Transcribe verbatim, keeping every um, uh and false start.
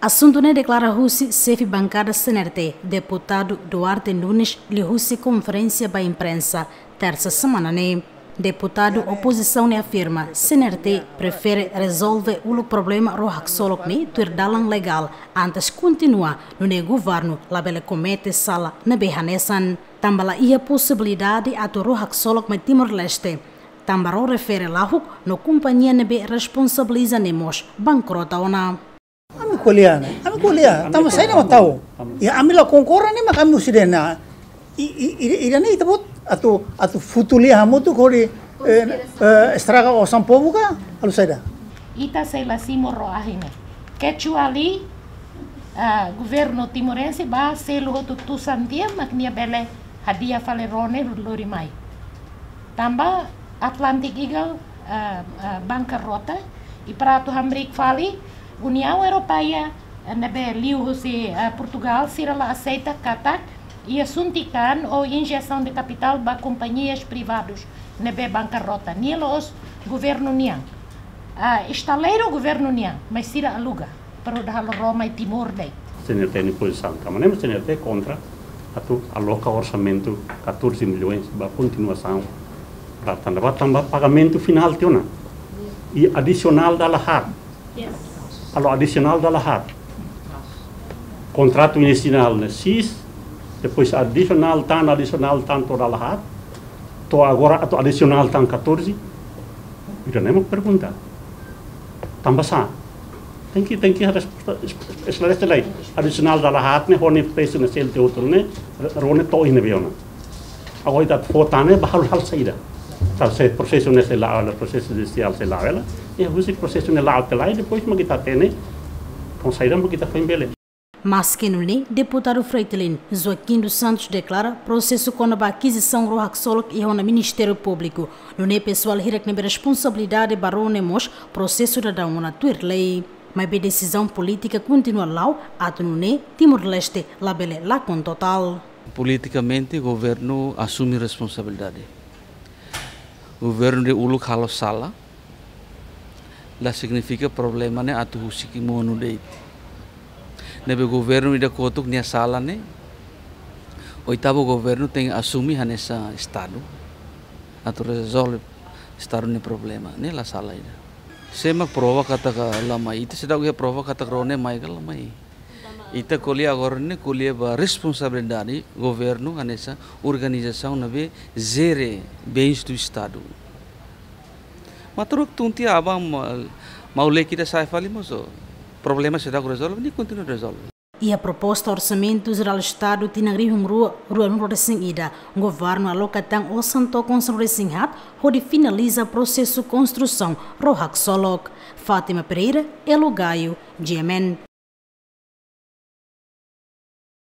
Asuntu ne'e deklara husi xefe bankada C N R T, deputadu Duarte Nunes, liuhusi konferénsia ba imprensa, tersa semana ne'e. Deputadu opozisaun ne'e afirma, C N R T prefere rezolve uluk problema ró haksolok ne'e tuir dalan legál, antes kontinua, nune'e governu labele komete sala ne'ebé hanesan. Tanba la iha posibilidade atu ró haksolok mai Timor-Leste. Tanba ró refere lahuk no kompañia ne'ebé responsabiliza ne'e mós bankrota ona. Ami ko'alia ne'e, ami ko'alia, tanba saida mak tau. Ya, ami la konkorda ne'e mak ami husi dehan. I, i, i, ida-ne'e ita-boot atu, atu futu lia hamutuk hodi, eh, eh, estraga osan povu ka, halo saida? Ita sei la simu ró ahi ne'e. Kecuali, ah, governu timorense bá selu hotu tusan tiha mak nia bele hadi'a fali ró ne'e lori mai. Tanba Atlantic Eagle, ah, ah, bankarrota, i para atu hamriik fali, Uniaun Europeia, eh, ne'ebé liuhusi, eh, Portugal, sira la aseita katak iha suntik tan ou injesaun de kapitál ba kompañias privadus ne'ebé bankarrota. Nia la'ós governu nian. Ah, estaleiru governu nian, mas sira aluga para hodi halo ró mai Timor de'it. C N R T nia pozisaun, tanba ne'e mak C N R T kontra atu aloka orsamentu catorze milhões ba kontinuasaun. Ba tanba, ba tanba pagamentu finál tiha ona. I adisionál dala haat. Yes. Halo adisionál dala haat. Kontratu inisiál ne'e seis, depois adisionál tan, adisionál tan to'o dala haat. To'o agora atu adisionál tan catorze. Ida-ne'e mak pergunta. Tanba sá? Tenke, tenke resposta es-, esklarese lai. Adisionál dala haat ne'e, ho nia presu ne'e selu tiha hotu ne'e, ró ne'e to'o iha ne'ebé ona. Agora ita fó tan ne'e, bá halo, halo saida. Tanba se prosesu ne'e sei la'o hela, prosesu judisiál sei la'o hela. I husi prosesu ne'e la'o tiha lai, depois mak ita hatene, ho saida mak ita foin bele. Maski nune'e, deputadu Fretilin, Joaquim dos Santos deklara prosesu kona-ba akizisaun ró haksolok iha ona Ministériu Públiku. Nune'e pesoál hirak ne'ebé responsabilidade ba ró ne'e mós prosesu daudaun ona tuir lei. Maibé desizaun polítika kontinua la'o atu nune'e Timor-Leste labele lakon totál. Politikamente, governu asume responsabilidade. Governu ida uluk halo sala, la signifika problema ne'e atu husik monu de'it. Ne'ebé governu ida kotuk nia sala ne'e, oitavu governu tenke asume hanesan Estadu atu rezolve Estadu nia problema, ne'e la sala ida. Sé mak prova katak la mai? Ita seidauk iha prova katak ró ne'e mai ka la mai. Ita ko'alia agora ne'e ko'alia ba responsabilidade governu hanesan organizasaun ne'ebé jere bens do Estadu. Mas tuir tun tiha aban ma-, mau leki ida sai fali mós, problema seidauk rezolve, nia kontinua rezolve. Iha proposta Orsamentu Jerál Estadu tinan rihun rua, rua-nulu-resin-ida, governu aloka tan osan to'o konsa rua-resin-haat hodi finaliza prosesu konstrusaun ró haksolok. Fátima Pereira, Elo Gaio, G M N.